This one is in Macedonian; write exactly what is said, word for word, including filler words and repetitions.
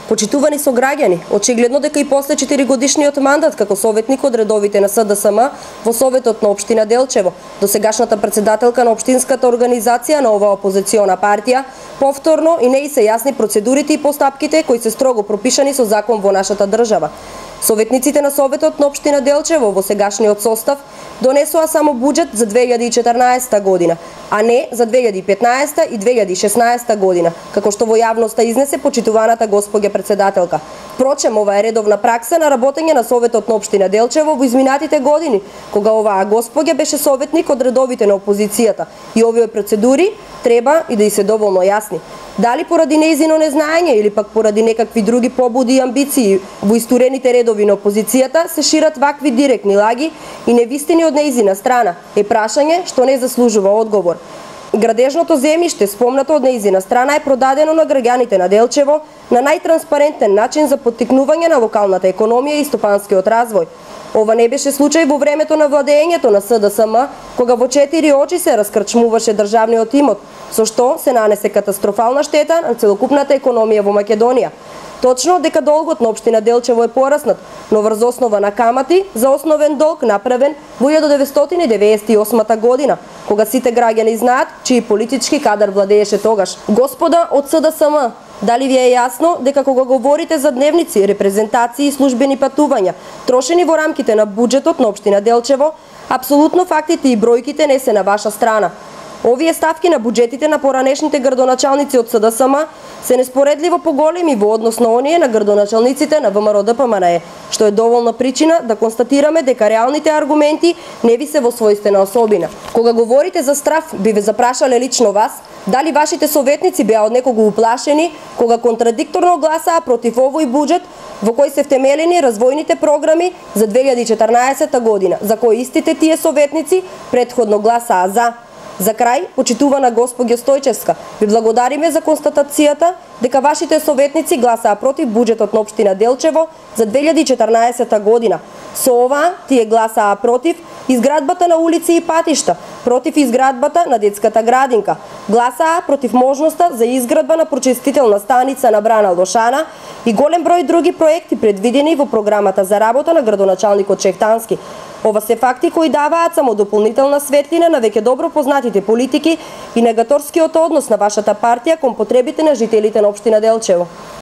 Почитувани сограѓани, очигледно дека и после четиригодишниот мандат како советник од редовите на С Д С М во Советот на општина Делчево, досегашната председателка на општинската организација на оваа опозициона партија, повторно и не и се јасни процедурите и постапките кои се строго пропишани со закон во нашата држава. Советниците на Советот на општина Делчево во сегашниот состав донесоа само буџет за две илјади и четрнаесетта година, а не за две илјади и петнаесетта и две илјади и шеснаесетта година, како што во јавноста изнесе почитуваната госпоѓа председателка. Впрочем, ова е редовна пракса на работење на Советот на општина Делчево во изминатите години, кога оваа госпоѓа беше советник од редовите на опозицијата и овие процедури треба и да и се доволно јасни. Дали поради нејзино незнаење или пак поради некакви други побуди и амбиции во истурените редови на опозицијата се шират вакви директни лаги и невистини од нејзина страна, е прашање што не заслужува одговор. Градежното земјиште, спомнато од нејзина страна, е продадено на граѓаните на Делчево на најтранспарентен начин за поттикнување на локалната економија и стопанскиот развој. Ова не беше случај во времето на владеењето на С Д С М, кога во четири очи се раскрчмуваше државниот имот, со што се нанесе катастрофална штета на целокупната економија во Македонија. Точно дека долгот на општина Делчево е пораснат, но врз основа на камати за основен долг направен во илјада деветстотини деветдесет и осма година, кога сите граѓани знаат чиј политички кадар владееше тогаш. Господа од С Д С М, дали ви е јасно дека кога говорите за дневници, репрезентации и службени патувања, трошени во рамките на буџетот на општина Делчево, апсолутно фактите и бројките не се на ваша страна? Овие ставки на буџетите на поранешните градоначалници од С Д С М се неспоредливо поголеми во однос на оние на градоначалниците на В М Р Д П М Н Е, што е доволна причина да констатираме дека реалните аргументи не ви се во својствена особина. Кога говорите за страф, би ве запрашале лично вас, дали вашите советници беа од некого уплашени кога контрадикторно гласаа против овој буџет во кој се втемелени развојните програми за две илјади и четрнаесетта година, за кои истите тие советници претходно гласаа за. За крај, почитувана госпоѓа Стојчевска, ви благодариме за констатацијата дека вашите советници гласаа против буџетот на општина Делчево за две илјади и четрнаесетта година. Со ова тие гласаа против изградбата на улици и патишта, против изградбата на детската градинка, гласаа против можноста за изградба на прочистителна станица на брана Лошана и голем број други проекти предвидени во програмата за работа на градоначалникот Чехтански. Ова се факти кои даваат само дополнителна светлина на веќе добро познатите политики и негаторскиот однос на вашата партија кон потребите на жителите на општина Делчево.